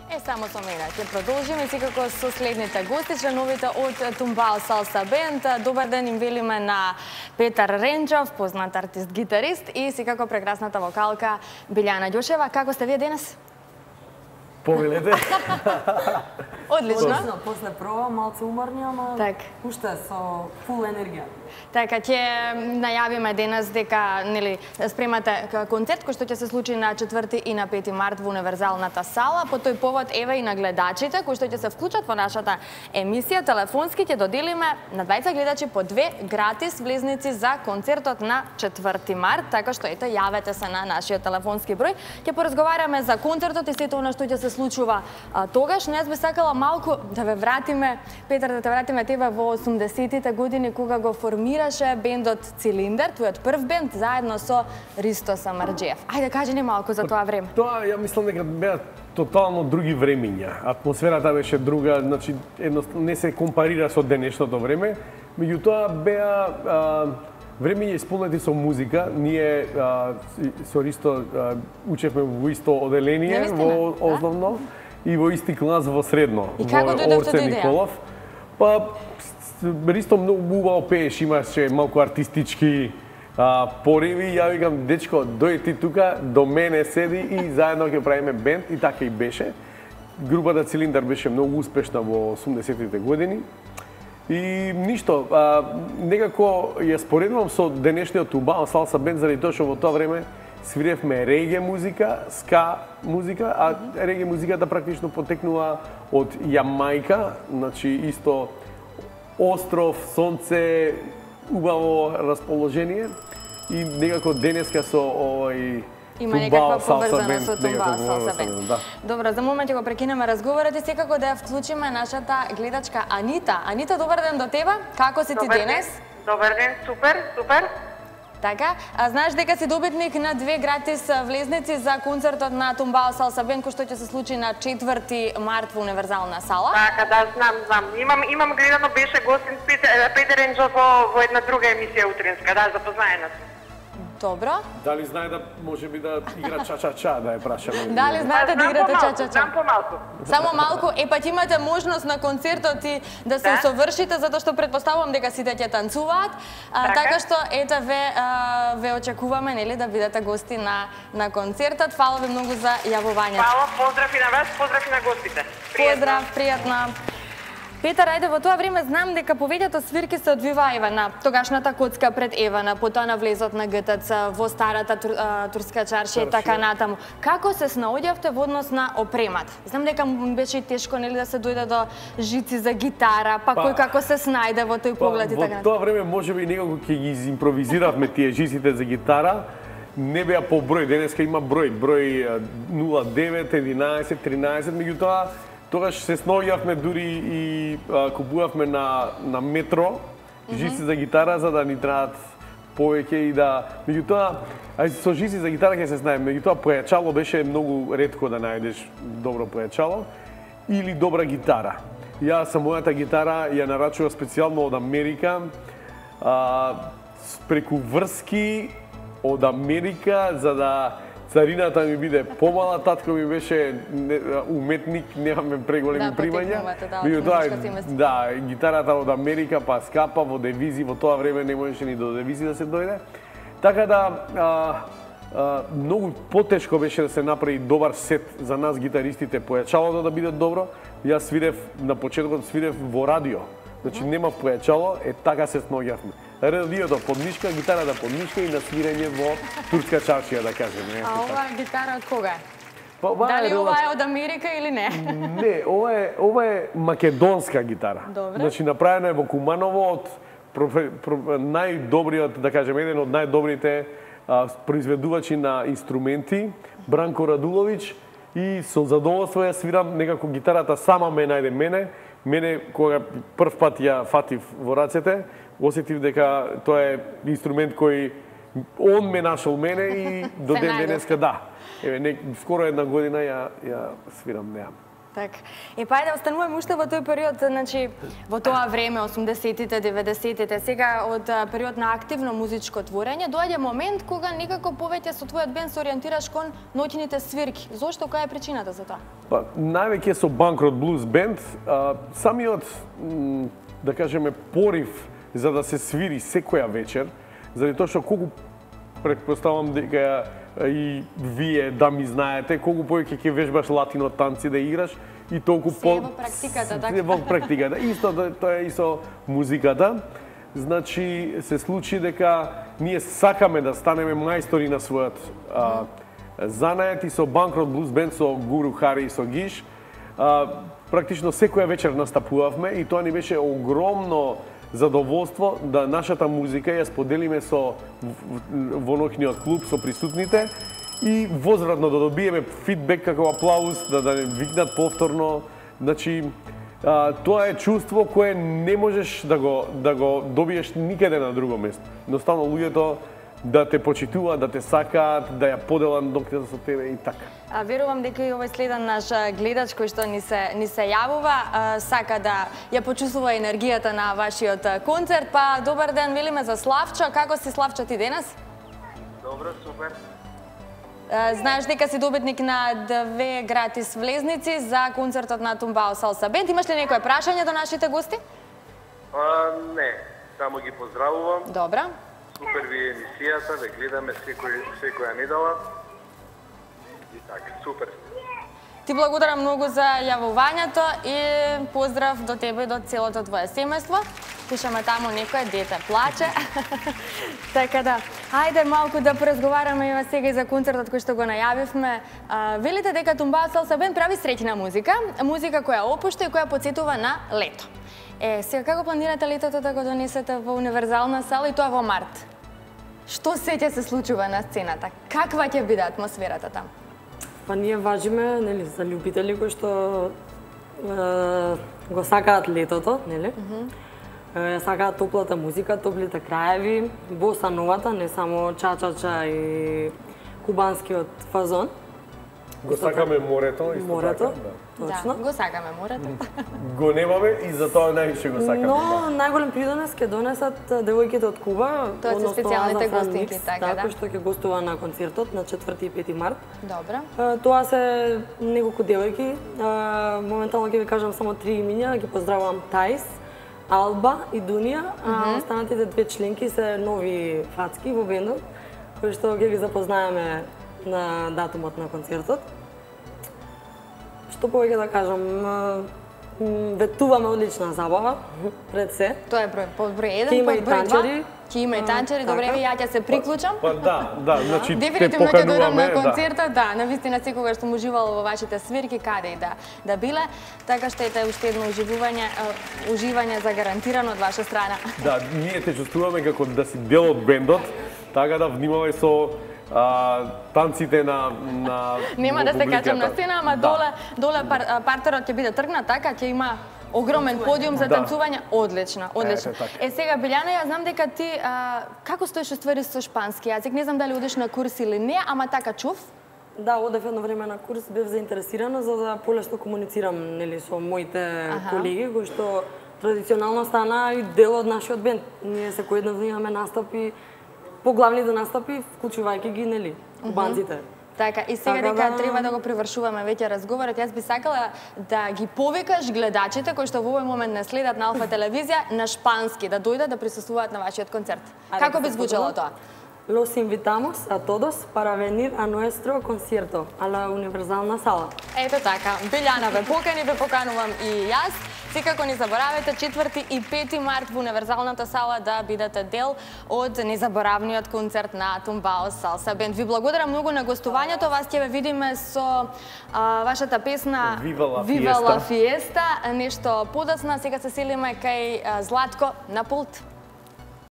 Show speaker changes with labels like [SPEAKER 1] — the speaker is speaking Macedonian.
[SPEAKER 1] Само со мене. Ќе продолжиме секако со следните гости, членовите од Тумбао Салса Бенд. Добар ден им велиме на Петар Ренџов, познат артист-гитарист, и секако прекрасната вокалка Билјана Ѓошева. Како сте вие денес?
[SPEAKER 2] Повелете.
[SPEAKER 1] Одлично.
[SPEAKER 3] После проба малце уморни, ама уште со фул енергија.
[SPEAKER 1] Така, ќе најавиме денес дека спремате концерт кој што ќе се случи на 4 и на 5 март во Универзалната сала. По тој повод еве и на гледачите кои што ќе се вклучат во нашата емисија телефонски ќе доделиме на двајца гледачи по 2 гратис влезници за концертот на 4 март, така што ете јавете се на нашиот телефонски број. Ќе поразговараме за концертот и сето она што ќе се случува тогаш. Не би сакала малку да ве вратиме, Петар, да те вратиме тебе во 80-тите години кога го формираше бендот Цилиндер, твојот прв бенд, заедно со Ристо Самарџиев. Ајде, кажи ни малку за тоа време.
[SPEAKER 2] Тоа, ја мислам дека беа тотално други времиња. Атмосферата беше друга, значи не се компарира со денешното време, меѓутоа беа времиња исполнети со музика. Ние со Ристо учевме во исто оделение во основно и во исти клас во средно.
[SPEAKER 1] И како дојдовте до идеја?
[SPEAKER 2] Па Ристо многу убаво пееш, имаше малку артистички пориви. Ја викам, дечко, дојди ти тука, до мене седи и заедно ќе правиме бенд, и така и беше. Групата Цилиндер беше многу успешна во 80-тите години. И ништо, некако ја споредувам со денешниот Тумбао Салса Бенд, заради тоа што во тоа време свиревме реге музика, ска музика, а реге музиката практично потекнува од Јамајка, значи исто остров, сонце, убаво расположение, и некако денеска со овој
[SPEAKER 1] има некаква поврзана со Тумбао Салса Бенд. Добро, за момент ќе го прекинеме разговорот и секако да ја вклучиме нашата гледачка Анита. Анита, добар ден до тебе. Како си ти денес?
[SPEAKER 4] Добар ден, супер, супер.
[SPEAKER 1] Така, знаеш дека си добитник на 2 гратис влезници за концертот на Тумбао Салса Бенд кој што ќе се случи на 4 март во Универзална сала?
[SPEAKER 4] Така, да, знам. Имам гледано, беше гостин Петар Ренџов во една друга емисија утринска, да, запознаена сум.
[SPEAKER 1] Добро.
[SPEAKER 2] Дали знае да може би да игра ча-ча-ча, да ја прашаме?
[SPEAKER 1] Дали знаете да играте ча-ча-ча?
[SPEAKER 4] Знам помалку.
[SPEAKER 1] Само малку, па ќе имате можност на концертот и да се усовршите, затоа што предпоставувам дека сите ќе танцуваат. Така што ете ве очекуваме, нели, да бидете гости на концертот. Фала ви многу за јавувањето.
[SPEAKER 4] Фала, поздрав и на вас, поздрав и на гостите.
[SPEAKER 1] Поздрав, пријатно. Петар, ајде, во тоа време знам дека повеќето свирки се одвиваа еве на тогашната коцка пред Евана, потоа на влезот на ГТЦ, во старата турска чаршија и така натаму. Како се снаоѓавте во однос на опремат? Знам дека беше тешко, нели, да се дојде до жици за гитара, па кој како се снајде во тој поглед и така натаму.
[SPEAKER 2] Во тоа време можеби некако ќе ги импровизиравме тие жиците за гитара. Не беа по број, денеска има број 09, 11, 13, меѓутоа тогаш се снаоѓавме дури и купувавме на метро жици за гитара за да ни траат повеќе и да, меѓутоа со жици за гитара ќе се знаеме, меѓутоа појачало беше многу ретко да најдеш добро појачало или добра гитара. Јас со мојата гитара ја нарачував специјално од Америка, преку врски од Америка, за да царината ми биде помала. Татко ми беше уметник, немаме преголеми примања. Да, гитарата од Америка, па скапа во девизи, во тоа време не можеше ни до девизи да се дојде. Така да, многу потешко беше да се направи добар сет за нас гитаристите, појачалото да биде добро. Јас свирев, на почетокот свирев во радио, значи немав појачало, така се снаоѓавме. Радиото под мишка, гитарата под мишка и на свирење во турска чаршија, да кажеме.
[SPEAKER 1] А оваа гитара од кога е? Дали ова е од Америка или не?
[SPEAKER 2] Не, ова е македонска гитара.
[SPEAKER 1] Добре.
[SPEAKER 2] Значи направена е во Куманово од најдобриот, да кажеме, еден од најдобрите произведувачи на инструменти, Бранко Радуловиќ, и со задоволство ја свирам, некако гитарата сама ме најде мене, кога прв пат ја фатив во рацете, осетив дека тоа е инструмент кој он ме нашол мене и до ден денеска да. Еве, скоро една година ја свирам неа.
[SPEAKER 1] Така. Па да остануваме уште во тој период, значи во тоа време 80-тите, 90-тите, сега од период на активно музичко творење, доаѓа момент кога некако повеќе со твојот бенд се ориентираш кон ноќните свирки. Зошто, која е причината за тоа?
[SPEAKER 2] Па највеќе со Банкрот Блуз бенд, самиот да кажеме порив за да се свири секоја вечер, заради тоа што колку претпоставам дека и вие да ми знаете колку повеќе ќе вежбаш латино танци да играш и толку
[SPEAKER 1] во практиката, така.
[SPEAKER 2] Во практиката. Исто тоа е и со музиката. Значи се случи дека ние сакаме да станеме мајстори на својот занает и со Банкрот Блуз бенд, со Гуру Хари и со Гиш. Практично секоја вечер настапувавме и тоа ни беше огромно задоволство да нашата музика ја споделиме во ноќниот клуб со присутните и возвратно да добиеме фидбек како аплауз, да не викнат повторно. Значи, тоа е чувство кое не можеш да го добиеш никаде на друго место. Едноставно луѓето да те почитуваат, да те сакаат, да ја поделат ноќта со тебе и така.
[SPEAKER 1] Верувам дека и овој следен наш гледач кој што ни се јавува сака да ја почувствува енергијата на вашиот концерт. Па добар ден, велиме за Славчо. Како си, Славчо, ти денес?
[SPEAKER 5] Добро, супер.
[SPEAKER 1] Знаеш дека си добитник на 2 гратис влезници за концертот на Тумбао Салса Бенд. Имаш ли некое прашање до нашите гости?
[SPEAKER 5] Не, само ги поздравувам.
[SPEAKER 1] Добра.
[SPEAKER 5] Супер ви е емисијата, ве гледаме секоја недела. И така, супер.
[SPEAKER 1] Ти благодарам многу за јавувањето и поздрав до тебе и до целото твое семејство. Слушаме таму некој дете плаче. Така да, ајде малку да поразговараме и сега и за концертот кој што го најавивме. Велите дека Тумбао Салса Бенд прави среќна музика, музика која опушта и која потсетува на лето. Сега како планирате летото да го донесете во универзална сала и тоа во март? Што се ќе се случува на сцената? Каква ќе биде атмосферата таму?
[SPEAKER 3] Па ние важиме, нели, за љубители кои што го сакаат летото, нели? Сакаат топлата музика, топлите краеви, боса новата, не само чачача и кубанскиот фазон.
[SPEAKER 2] Го сакаме морето, исто
[SPEAKER 3] морето,
[SPEAKER 2] така,
[SPEAKER 3] точно.
[SPEAKER 1] Да, го сакаме морето.
[SPEAKER 2] Го немаме и затоа највише го сакаме.
[SPEAKER 3] Но најголем придонес ќе донесат девојките од Куба,
[SPEAKER 1] тоа се специјалните гостинки, така да.
[SPEAKER 3] Кој што ќе гостува на концертот на 4 и 5 март.
[SPEAKER 1] Добро.
[SPEAKER 3] Тоа се неколку девојки. Моментално ќе ви кажам само 3 имиња, ги поздравувам Таис, Алба и Дунија, а останатите 2 членки се нови фацки во бендот, кои што ќе ги запознаеме на датумот на концертот. Што повеќе да кажам, ветуваме одлична забава пред се.
[SPEAKER 1] Тоа е број 1,
[SPEAKER 3] ќе има и танчери.
[SPEAKER 1] Ќе има и танчери, добре, ја ќе се приклучам.
[SPEAKER 2] Па да, значи
[SPEAKER 1] дефинитивно ќе дојдам на концертот, да, навистина секогаш сум уживала во вашите свирки, каде и да биле, така што ете уште едно уживање загарантирано од ваша страна. Да,
[SPEAKER 2] ние те чувствуваме како да си дел од бендот, така да внимавај со танците на
[SPEAKER 1] нема да се качам на сцена, ама доле партерот ќе биде тргнат, така ќе има огромен подиум за танцување. Одлично, одлично. Сега Билјана, ја знам дека ти како стоиш уствари со шпански јазик? Не знам дали одиш на курс или не, ама така чув?
[SPEAKER 3] Да, одев едно време на курс, бев заинтересирана за да полесно комуницирам, нели, со моите колеги кои што традиционално стана и дел од нашиот бенд. Ние секојдневно имаме настапи, поглавните настапи, вклучувајќи ги, нели, кубанците.
[SPEAKER 1] Така, и сега дека треба да го привршуваме веќе разговорот, јас би сакала да ги повикаш гледачите кои што во овој момент не следат на Алфа телевизија на шпански, да дојдат да присуствуваат на вашиот концерт. Како би звучало тоа?
[SPEAKER 3] Los invitamos a todos para venir a nuestro concierto, a la Univerzalna Sala.
[SPEAKER 1] Ето така, Билјана ве покани, ве поканувам и јас. Секако не заборавете 4 и 5 март во Универзалната сала да бидете дел од незаборавниот концерт на Тумбао Салса Бенд. Ви благодарам многу на гостувањето. Вас ќе ве видиме со вашата песна
[SPEAKER 2] Viva la
[SPEAKER 1] Fiesta, нешто подоцна. Сега се селиме кај Златко на пулт.